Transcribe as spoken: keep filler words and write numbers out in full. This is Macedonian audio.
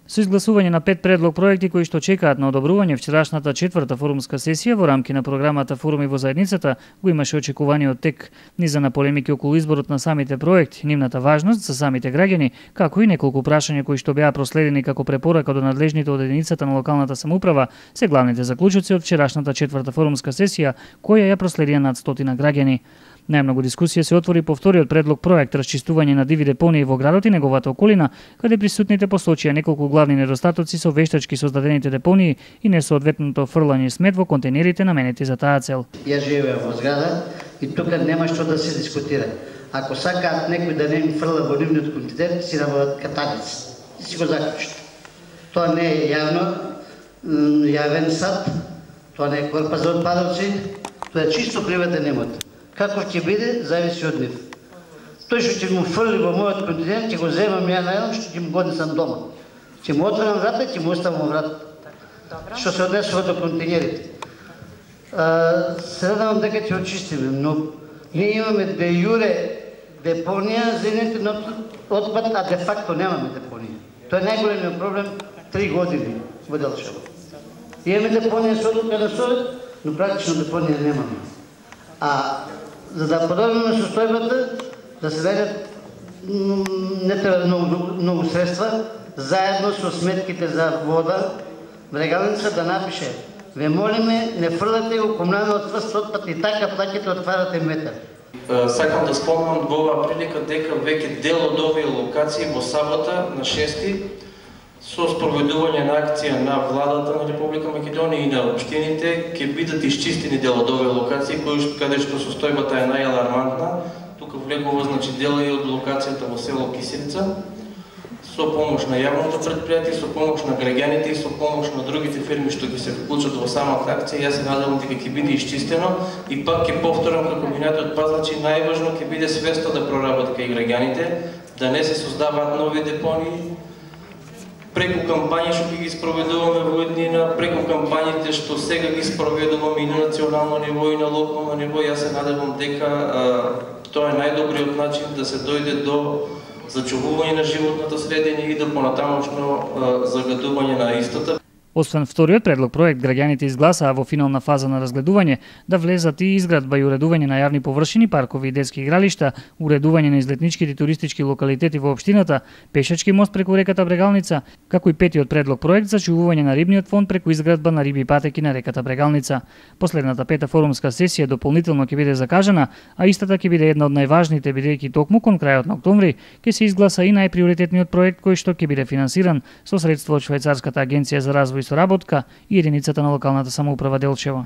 Со изгласување на пет предлог проекти кои што чекаат на одобрување, вчерашната четврта форумска сесија во рамки на програмата Форуми во заедницата го имаше очекуваниот тек, низа на полемики околу изборот на самите проекти, нивната важност за самите граѓани, како и неколку прашања кои што беа проследени како препорака до надлежните од единицата на локалната самоуправа, се главните заклучоци од вчерашната четврта форумска сесија, која ја проследија над стотина граѓани. Најмногу дискусија се отвори по вториот предлог проект расчистување на диви депонии во градот и неговата околина, каде присутните посочија неколку главни недостатоци со вештачки создадените депонии и несоодветното фрлање смет во контейнерите наменети за таа цел. Ја живеам во зграда и тука нема што да се дискутира. Ако сакаат некој да не им фрла во нивниот контейнер, си набават катаници и си го заклучат. Тоа не е јавно, јавен сад, тоа не е корпа за отпадоци, тоа е чисто приватен имот. Како ќе биде, зависи од нив. Тој што ќе му фрли во мојот континент, ќе го земам ја најдам, што ќе му го однесам дома. Ќе му отворам врата и ќе му оставам врата. Што се однесува до контейнерите. Се надевам дека ќе очистиме, но ние имаме де јуре депонија за еден отпад, а де факто немаме депонија. Тоа е најголемиот проблем три години во Делчево. Имаме депонија со одлука на Совет, но практично депонија немаме. А за да подобриме состојбата, да се најдат не треба многу, многу средства, заедно со сметките за вода, Брегалница да напише: ве молиме, не фрлате го комуналниот тврст отпад и така плаќате отварате метар. Сакам да спомнам во оваа прилика дека веќе дел од овие локации во сабота на шести со спроведување на акција на владата на Република Македонија и на општините ќе бидат исчистени дел од овие локации кои каде што состојбата е најалармантна. Тука влегува значи дел и од локацијата во село Кисилица со помош на јавното претпријатие, со помош на граѓаните и со помош на другите фирми што ќе се вклучат во самата акција. Јас се надевам дека ќе биде исчистено и пак ќе повторам како минатиот пат, значи најважно ќе биде свеста да проработат кај граѓаните, да не се создаваат нови депонии. Преку кампањи што ги спроведуваме во еднина, преку кампањите што сега ги спроведуваме и на национално ниво и на локално ниво, јас се надевам дека а, тоа е најдобриот начин да се дојде до зачувување на животната средина и до понатамошно загадување на истата. Освен вториот предлог проект, граѓаните изгласаа во финална фаза на разгледување да влезат и изградба и уредување на јавни површини, паркови и детски игралишта, уредување на излетничките и туристички локалитети во општината, пешачки мост преку реката Брегалница, како и петиот предлог проект за чувување на рибниот фонд преку изградба на риби патеки на реката Брегалница. Последната пета форумска сесија дополнително ќе биде закажана, а истата ќе биде една од најважните, бидејќи токму кон крајот на октомври ќе се изгласа и најприоритетниот проект кој што ќе биде финансиран со средства од Швајцарската агенција за развој и соработка и единицата на локалната самоуправа Делчево.